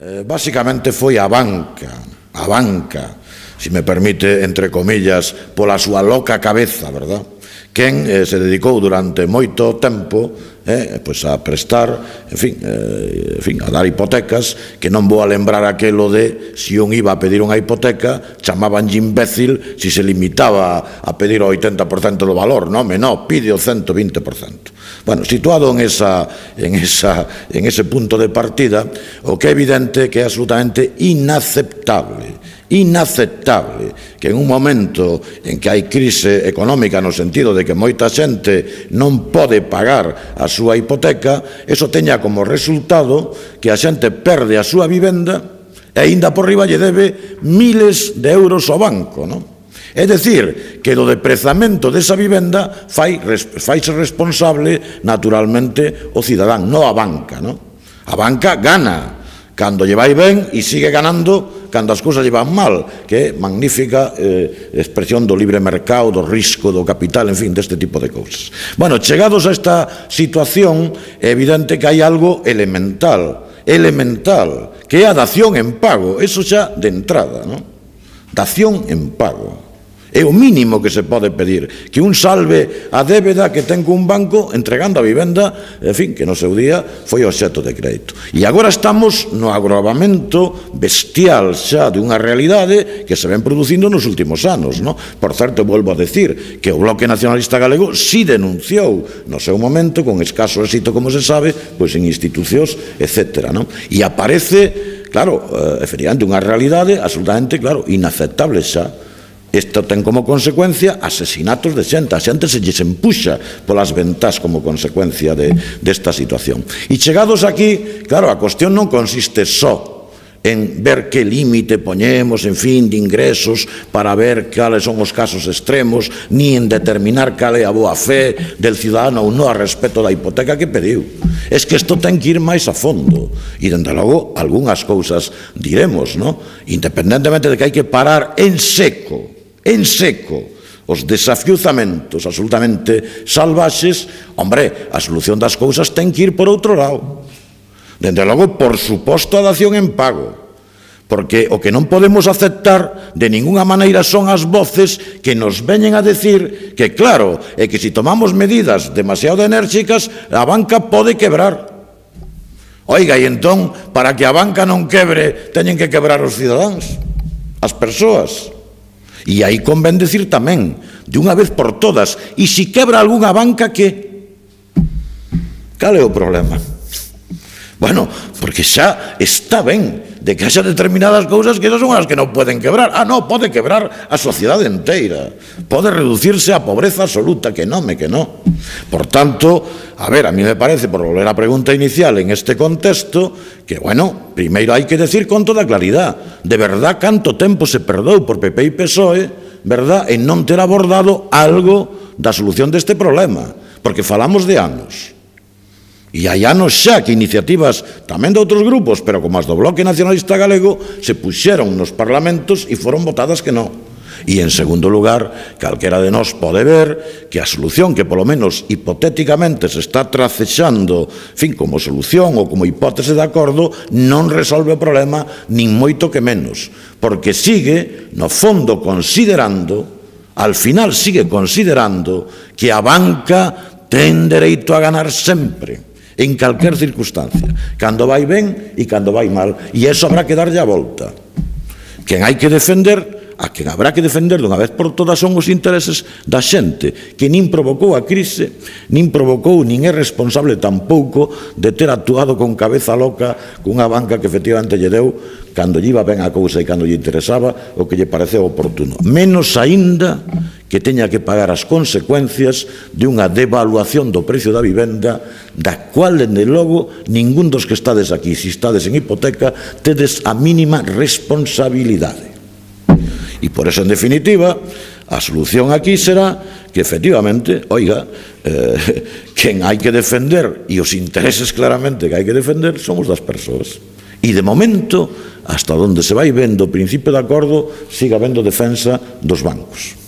Básicamente foi a banca, se me permite, entre comillas, pola súa loca cabeza, verdad? Quen se dedicou durante moito tempo a prestar, en fin, a dar hipotecas, que non vou a lembrar aquelo de se un iba a pedir unha hipoteca, chamabanlle imbécil se se limitaba a pedir o 80% do valor, non, pide o 120%. Bueno, situado en ese punto de partida, o que é evidente que é absolutamente inaceptable que en un momento en que hai crise económica no sentido de que moita xente non pode pagar a súa hipoteca, eso teña como resultado que a xente perde a súa vivenda e aínda por riba lle debe miles de euros ao banco, non? É dicir, que do deprezamento desa vivenda faise responsable naturalmente o cidadán, non a banca, non? A banca gana cando lle vai ben e sigue ganando cando as cousas lle van mal, que é magnífica expresión do libre mercado, do risco, do capital, en fin, deste tipo de cousas. Bueno, chegados a esta situación, é evidente que hai algo elemental, que é a dación en pago, eso xa de entrada, non? Dación en pago. É o mínimo que se pode pedir, que un salve a débeda que ten cun banco entregando a vivenda, en fin, que no seu día foi obxecto de crédito. E agora estamos no agravamento bestial xa de unha realidade que se ven producindo nos últimos anos, non? Por certo, volvo a decir que o Bloque Nacionalista Galego si denunciou no seu momento, con escaso éxito, como se sabe, pois en institucións, etc., non? E aparece, claro, efectivamente, unha realidade absolutamente, claro, inaceptable xa. Isto ten como consecuencia asesinatos de xente. A xente se lles empuxa polas ventás como consecuencia desta situación. E chegados aquí, claro, a cuestión non consiste só en ver que límite poñemos, en fin, de ingresos para ver cales son os casos extremos, ni en determinar cal é a boa fe del cidadano ou non a respecto da hipoteca que pediu. É que isto ten que ir máis a fondo. E, dende logo, algunhas cousas diremos, non? Independentemente de que hai que parar en seco os desafiuzamentos absolutamente salvaxes, hombre, a solución das cousas ten que ir por outro lado. Dende logo, por suposto, a dación en pago, porque o que non podemos aceptar de ninguna maneira son as voces que nos veñen a decir que, claro, é que se tomamos medidas demasiado enérxicas, a banca pode quebrar. Oiga, e entón, para que a banca non quebre, teñen que quebrar os cidadáns, as persoas. E aí convén decir tamén, de unha vez por todas, e se quebra algunha banca, que? Cal é o problema? Bueno, porque xa está ben de que haxa determinadas cousas que esas son as que non poden quebrar. Non, pode quebrar a sociedade inteira, pode reducirse a pobreza absoluta, que non. Por tanto, a ver, a mí me parece, por volver á pregunta inicial en este contexto, que, bueno, primeiro hai que decir con toda claridade, de verdad, canto tempo se perdou por PP e PSOE, verdad, en non ter abordado algo da solución deste problema, porque falamos de anos. E hai anos xa que iniciativas tamén de outros grupos, pero como as do Bloque Nacionalista Galego, se puxeron nos parlamentos e foron votadas que non. E, en segundo lugar, calquera de nós pode ver que a solución que, polo menos hipotéticamente, se está tracexando, en fin, como solución ou como hipótese de acordo, non resolve o problema, nin moito que menos, porque sigue, no fondo, considerando, al final sigue considerando que a banca ten dereito a ganar sempre, en calquer circunstancia, cando vai ben e cando vai mal, e iso habrá que darlle a volta. Quen hai que defender, a quen habrá que defender dunha vez por todas son os intereses da xente, que nin provocou a crise, nin é responsable tampouco de ter actuado con cabeza loca cunha banca que efectivamente lle deu cando lle iba ben a cousa e cando lle interesaba o que lle pareceu oportuno. Menos aínda que teña que pagar as consecuencias de unha devaluación do precio da vivenda, da cual, dende logo, ningún dos que estades aquí, se estades en hipoteca, tedes a mínima responsabilidade. E por eso, en definitiva, a solución aquí será que, efectivamente, oiga, quen hai que defender, e os intereses claramente que hai que defender, son os das persoas. E, de momento, hasta onde se vai vendo o principio de acordo, siga habendo defensa dos bancos.